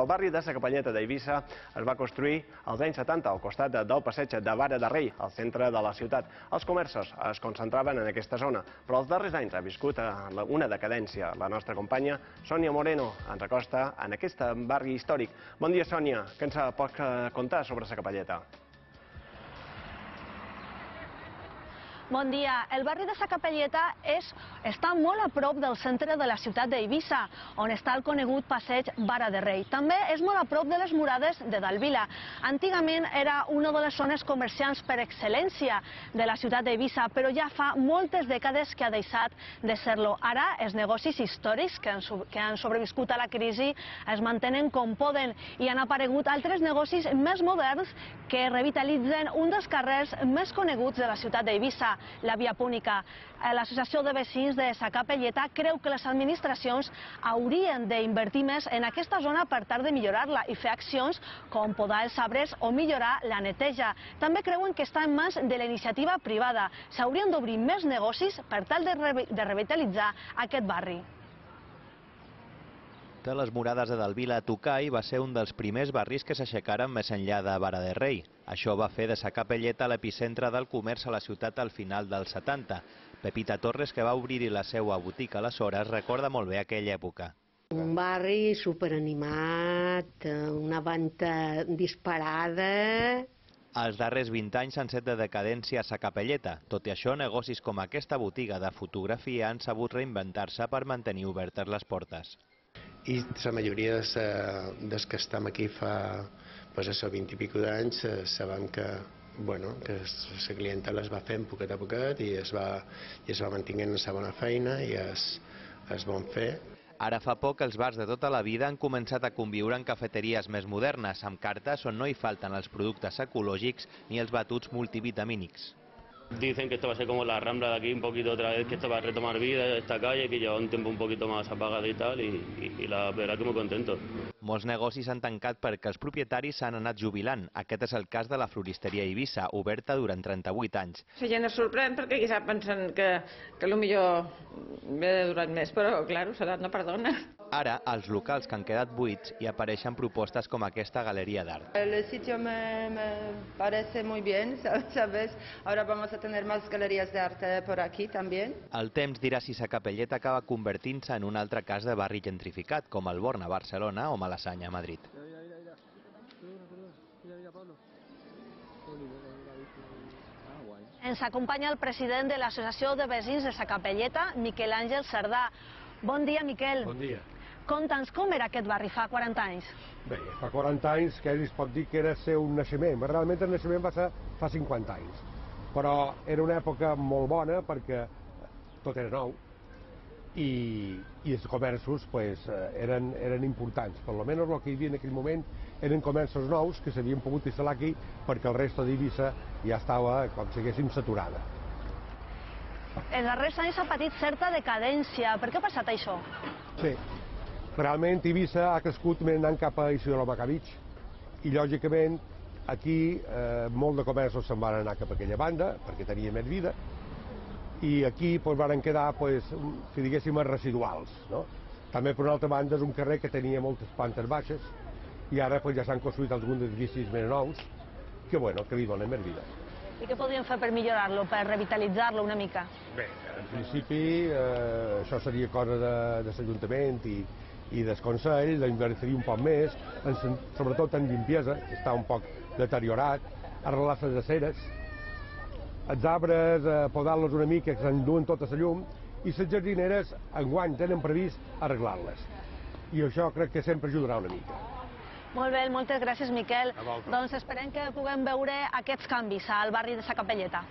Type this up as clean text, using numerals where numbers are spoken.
El barri de la Capelleta d'Eivissa es va construir als anys 70 al costat del passeig de Vara de Rei, al centre de la ciutat. Els comerços es concentraven en aquesta zona, però els darrers anys ha viscut una decadència. La nostra companya Sònia Moreno ens acosta en aquest barri històric. Bon dia, Sònia. Què ens pots contar sobre la Capelleta? Bon dia. El barri de la Capelleta està molt a prop del centre de la ciutat d'Eivissa, on està el conegut passeig Vara de Rei. També és molt a prop de les murades de Dalvila. Antigament era una de les zones comercials per excel·lència de la ciutat d'Eivissa, però ja fa moltes dècades que ha deixat de ser-lo. Ara els negocis històrics que han sobreviscut a la crisi es mantenen com poden i han aparegut altres negocis més moderns que revitalitzen un dels carrers més coneguts de la ciutat d'Eivissa, la Via Púnica. L'Associació de Veïns de la Capelleta creu que les administracions haurien d'invertir més en aquesta zona per tal de millorar-la i fer accions com podar els arbres o millorar la neteja. També creuen que està en mans de la iniciativa privada. S'haurien d'obrir més negocis per tal de revitalitzar aquest barri. De les murades de Dalvila a Tucai va ser un dels primers barris que s'aixecaren més enllà de Vara de Rei. Això va fer de sa Capelleta l'epicentre del comerç a la ciutat al final dels 70. Pepita Torres, que va obrir-hi la seva botiga aleshores, recorda molt bé aquella època. Un barri superanimat, una venta disparada. Els darrers 20 anys han set de decadència a sa Capelleta. Tot i això, negocis com aquesta botiga de fotografia han sabut reinventar-se per mantenir obertes les portes. I la majoria dels que estem aquí fa 20 i pico d'anys sabem que la clientela es va fent poquet a poquet i es va mantenint la bona feina i es bon fer. Ara fa poc els bars de tota la vida han començat a conviure en cafeteries més modernes, amb cartes on no hi falten els productes ecològics ni els batuts multivitamínics. Dicen que esto va a ser como la Rambla de aquí un poquito otra vez, que esto va a retomar vida, esta calle, que lleva un tiempo un poquito más apagada y tal, y la verdad que muy contento. Molts negocis han tancat perquè els propietaris s'han anat jubilant. Aquest és el cas de la floristeria Eivissa, oberta durant 38 anys. La gent es sorprèn perquè quizà pensen que potser m'he durat més, però, clar, l'edat no perdona. Ara, als locals que han quedat buits hi apareixen propostes com aquesta galeria d'art. El sitio me parece muy bien, ¿sabes? Ahora vamos a tener más galerías de arte por aquí también. El temps dirà si sa Capelleta acaba convertint-se en un altre cas de barri gentrificat, com el Born a Barcelona o Malassanya a Madrid. Ens acompanya el president de l'Associació de Veïns de la Capelleta, Miquel Àngel Cerdà. Bon dia, Miquel. Bon dia. Conta'ns com era aquest barri fa 40 anys. Bé, fa 40 anys que es pot dir que era ser un naixement. Realment el naixement va ser fa 50 anys. Però era una època molt bona perquè tot era nou i els comerços eren importants. Per almenys el que hi havia en aquell moment eren comerços nous que s'havien pogut instal·lar aquí perquè el resto d'Eivissa ja estava, com si diguéssim, saturada. Els darrers anys ha patit certa decadència. Per què ha passat això? Sí, realment Eivissa ha crescut anant cap a Isidro Macavig i lògicament aquí molt de comerços se'n van anar cap a aquella banda perquè tenia més vida i aquí van quedar, si diguéssim, residuals. També, per una altra banda, és un carrer que tenia moltes plantes baixes i ara ja s'han construït alguns edificis més nous que li donen més vida. I què podríem fer per millorar-lo, per revitalitzar-lo una mica? Bé, en principi això seria cosa de l'Ajuntament i del Consell, d'invertir un poc més, sobretot en limpiesa, que està un poc deteriorat, arreglar les aceres, els arbres, podar-los una mica, que s'enduen tota la llum, i les jardineres enguany tenen previst arreglar-les. I això crec que sempre ajudarà una mica. Molt bé, moltes gràcies, Miquel. Doncs esperem que puguem veure aquests canvis al barri de la Capelleta.